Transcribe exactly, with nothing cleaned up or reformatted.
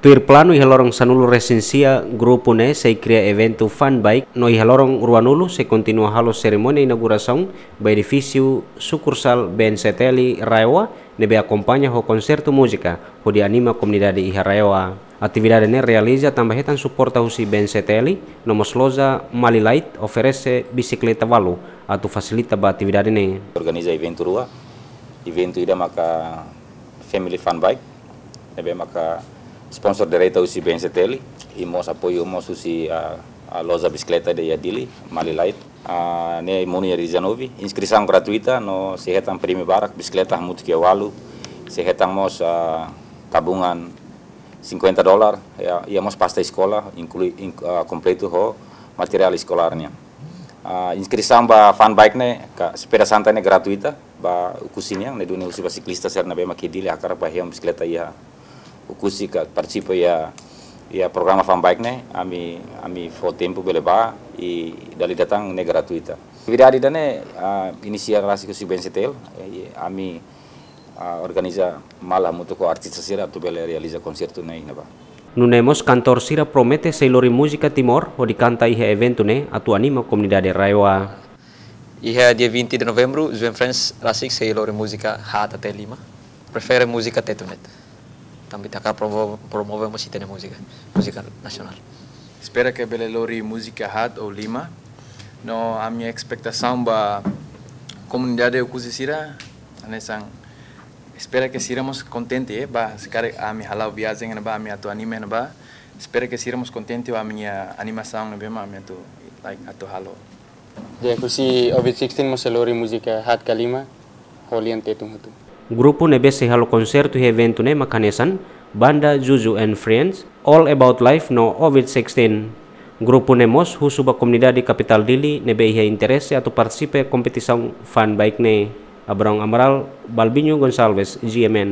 Tuir planu, iha loron sanulu-resin-sia grupu ne'e sei kria eventu fan bike, no iha loron ruanulu sei kontinua halo serimónia inaugurasaun ba edifísiu sukursál B N C T L RAEOA, ne'ebé akompaña ho konsertu múzika hodi anima komunidade iha RAEOA. Atividade ne'e realiza tanba hetan suporta husi B N C T L, no mós loja Mali Light oferese bisikleta balu atu fasilita ba atividade ne'e. Organiza eventu rua, eventu ida maka Family Fun Bike, ne'ebé maka sponsor direta husi B N C T L, i mós apoiu mós husi, ah, ah, loja bisikleta ida iha Dili, Mali Light. Ah, ne'e monu iha dia dezanove, inskrisaun gratuita, no sei hetan prémiu barak, bisikleta hamutuk iha ualu, sei hetan mós, ah, tabungan cinquenta dólar, iha, iha mós pasta eskola, inklui, in-, ah, kompletu ho materiál eskolár nian. Ah, inskrisaun ba fun bike ne'e, ka sepeda santai ne'e gratuita, ba Oekusi nian, ne'e duni husi ba siklista sira ne'ebé mak iha Dili hakarak bá hetan bisikleta iha Oekusi ka partisipa iha, iha programa fun bike ne'e, ami, ami fó tempu bele bá, i dala ida tan ne'e gratuita. Atividade ida-ne'e, ah, inisia rasik husi B N C T L, eh, ami, ah, organiza malu hamutuk ho artista sira atu bele realiza konsertu ne'e iha ne'ebá. Nune'e mós kantór sira promete sei lori múzika Timor hodi kanta iha eventu ne'e atu anima komunidade RAEOA. Iha dia vinte de novembru, Juan Friends rasik sei lori múzika haat até lima. Prefere múzika Tetun de'it. Tanba ita hakarak promo-, promove mós ita-nia múzika, múzika nasionál. Espera ke bele lori múzika haat ou lima. No ami-nia espetasaun ba komunidade Oekusi sira, hanesan, espera ke sira mós kontente, eh, ba, se karik ami hala'o viajen iha ne'ebá, ami atu anima iha ne'ebá. Espera ke sira mós kontente ho ami-nia animasaun ne'ebé mak ami atu, like, atu halo. Di'ak, husi Ovid sixteen mós sei lori múzika haat ka lima, ho lian Tetun hotu. Grupu ne'ebé sei halo konsertu iha eventu ne'e mak hanesan, banda Juju and Friends, All About Life no Ovid sixteen. Grupu ne'e mós husu ba komunidade kapitál Dili ne'ebé iha interese atu partisipa kompetisaun fun bike ne'e. Abrão Amaral, Balbinho Gonçalves, G M N.